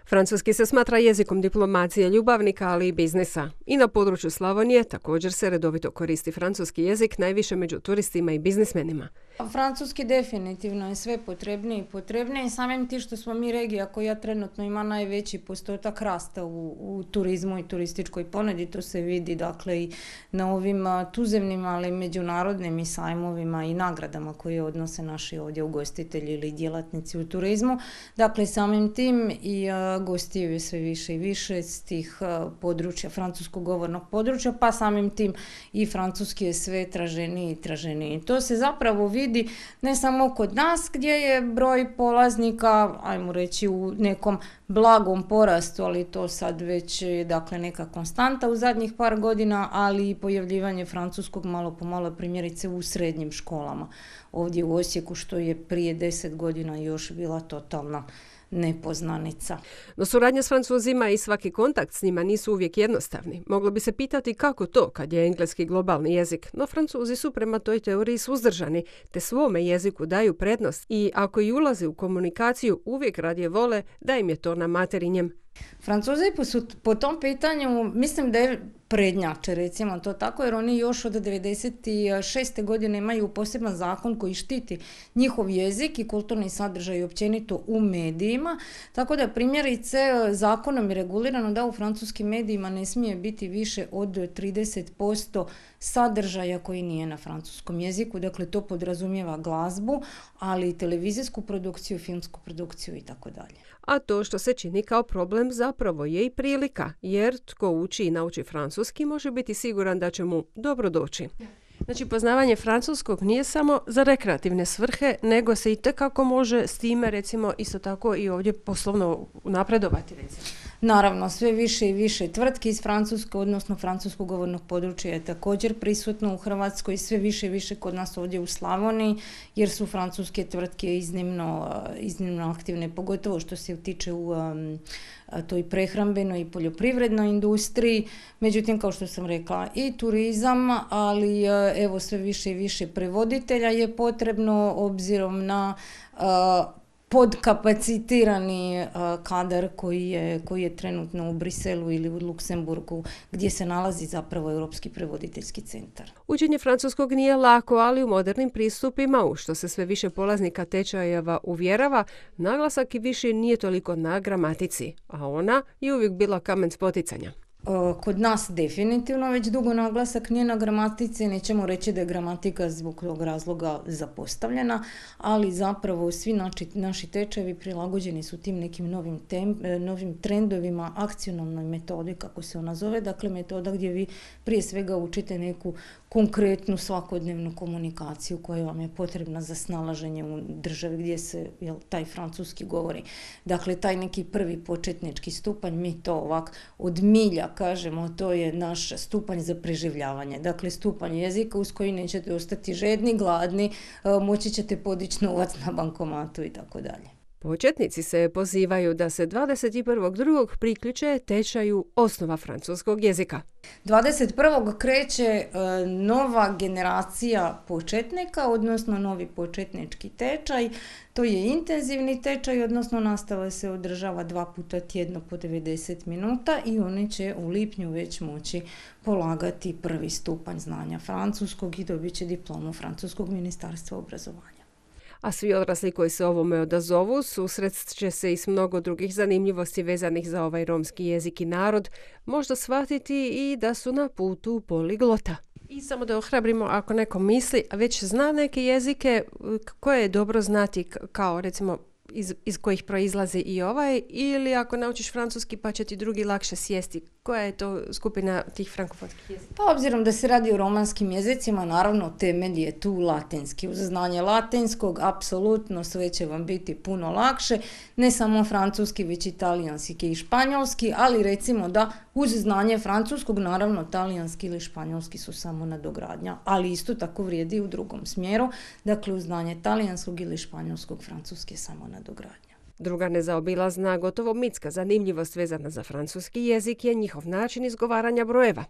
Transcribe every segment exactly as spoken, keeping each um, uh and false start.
Francuski se smatra jezikom diplomacije, ljubavnika, ali i biznisa. I na području Slavonije također se redovito koristi francuski jezik, najviše među turistima i biznismenima. Francuski definitivno je sve potrebniji i potrebniji. Samim tim što smo mi regija koja trenutno ima najveći postotak rasta u, u turizmu i turističkoj ponudi, to se vidi dakle i na ovim tuzemnim, ali i međunarodnim i sajmovima i nagradama koje odnose naši ovdje ugostitelji ili djelatnici u turizmu. Dakle, samim tim i uh, gostiju je sve više i više s tih uh, područja, francuskog govornog područja, pa samim tim i francuski je sve traženiji i traženiji. To se zapravo vidi vidi ne samo kod nas gdje je broj polaznika, ajmo reći u nekom blagom porastu, ali to sad već je dakle neka konstanta u zadnjih par godina, ali i pojavljivanje francuskog malo po malo primjerice u srednjim školama. Ovdje u Osijeku što je prije deset godina još bila totalna nepoznanica. No suradnja s Francuzima i svaki kontakt s njima nisu uvijek jednostavni. Moglo bi se pitati kako to kad je engleski globalni jezik, no Francuzi su prema toj teoriji suzdržani, te svome jeziku daju prednost i ako i ulaze u komunikaciju uvijek radije vole da im je to na materinjem. Francuzi su po tom pitanju, mislim da je prednjače, recimo to tako, jer oni još od devedeset šeste godine imaju poseban zakon koji štiti njihov jezik i kulturni sadržaj općenito u medijima, tako da primjerice zakonom je regulirano da u francuskim medijima ne smije biti više od trideset posto sadržaja koji nije na francuskom jeziku, dakle to podrazumijeva glazbu, ali i televizijsku produkciju, filmsku produkciju i tako dalje. A to što se čini kao problem zapravo je i prilika, jer tko uči i nauči francuski može biti siguran da će mu dobro doći. Znači, poznavanje francuskog nije samo za rekreativne svrhe, nego se i tekako može s time, recimo, isto tako i ovdje poslovno napredovati, recimo. Naravno, sve više i više tvrtki iz francuskog, odnosno francuskog govornog područja je također prisutno u Hrvatskoj, sve više i više kod nas ovdje u Slavoniji, jer su francuske tvrtke iznimno, iznimno aktivne, pogotovo što se tiče u um, toj prehrambenoj i poljoprivrednoj industriji. Međutim, kao što sam rekla, i turizam, ali evo sve više i više prevoditelja je potrebno obzirom na uh, podkapacitirani uh, kadar koji je, koji je trenutno u Briselu ili u Luksemburgu, gdje se nalazi zapravo Europski prevoditeljski centar. Učenje francuskog nije lako, ali u modernim pristupima, u što se sve više polaznika tečajeva uvjerava, naglasak i više nije toliko na gramatici, a ona je uvijek bila kamen spoticanja. Kod nas definitivno već dugo naglasak nije na gramatici, nećemo reći da je gramatika zbog tog razloga zapostavljena, ali zapravo svi naši, naši tečajevi prilagođeni su tim nekim novim, tem, novim trendovima, akcionalnoj metodi, kako se ona zove, dakle metoda gdje vi prije svega učite neku konkretnu svakodnevnu komunikaciju koja vam je potrebna za snalaženje u državi gdje se jel, taj francuski govori. Dakle, taj neki prvi početnički stupanj, mi to ovak od milja kažemo, to je naš stupanj za preživljavanje. Dakle, stupanj jezika uz koji nećete ostati žedni, gladni, moći ćete podići novac na bankomatu i tako dalje. Početnici se pozivaju da se dvadeset prvog drugog priključe tečaju osnova francuskog jezika. dvadeset prvog kreće e, nova generacija početnika, odnosno novi početnički tečaj. To je intenzivni tečaj, odnosno nastava se održava dva puta tjedno po devedeset minuta i oni će u lipnju već moći polagati prvi stupanj znanja francuskog i dobit će diplomu Francuskog ministarstva obrazovanja. A svi odrasli koji se ovome odazovu susret će se i s mnogo drugih zanimljivosti vezanih za ovaj romski jezik i narod, možda shvatiti i da su na putu poliglota. I samo da ohrabrimo ako neko misli, a već zna neke jezike koje je dobro znati kao recimo iz, iz kojih proizlazi i ovaj, ili ako naučiš francuski pa će ti drugi lakše sjesti. Koja je to skupina tih frankofonskih jezika? Pa obzirom da se radi o romanskim jezicima, naravno temelj je tu latinski. Uz znanje latinskog, apsolutno sve će vam biti puno lakše, ne samo francuski, već i talijanski i španjolski, ali recimo da uz znanje francuskog, naravno talijanski ili španjolski su samo nadogradnja, ali isto tako vrijedi u drugom smjeru, dakle uz znanje talijanskog ili španjolskog, francuski je samo nadogradnja. Druga nezaobilazna, gotovo mitska zanimljivost vezana za francuski jezik je njihov način izgovaranja brojeva.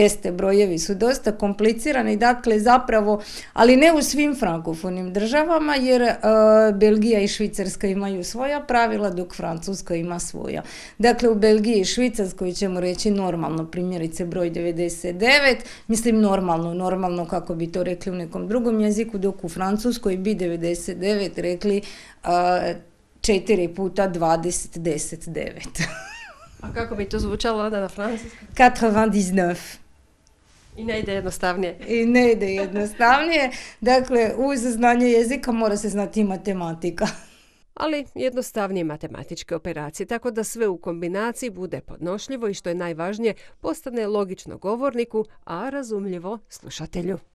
Jeste, brojevi su dosta komplicirani, dakle zapravo, ali ne u svim frankofonim državama, jer uh, Belgija i Švicarska imaju svoja pravila, dok Francuska ima svoja. Dakle, u Belgiji i Švicarskoj ćemo reći normalno, primjerice broj devedeset devet, mislim normalno, normalno kako bi to rekli u nekom drugom jeziku, dok u Francuskoj bi devedeset devet rekli uh, četiri puta dvadeset, deset, devet. A kako bi to zvučalo onda na francuskom? osamdeset devet. I ne ide jednostavnije. I ne ide jednostavnije. Dakle, uz znanje jezika mora se znati i matematika. Ali jednostavnije matematičke operacije, tako da sve u kombinaciji bude podnošljivo i što je najvažnije, postane logično govorniku, a razumljivo slušatelju.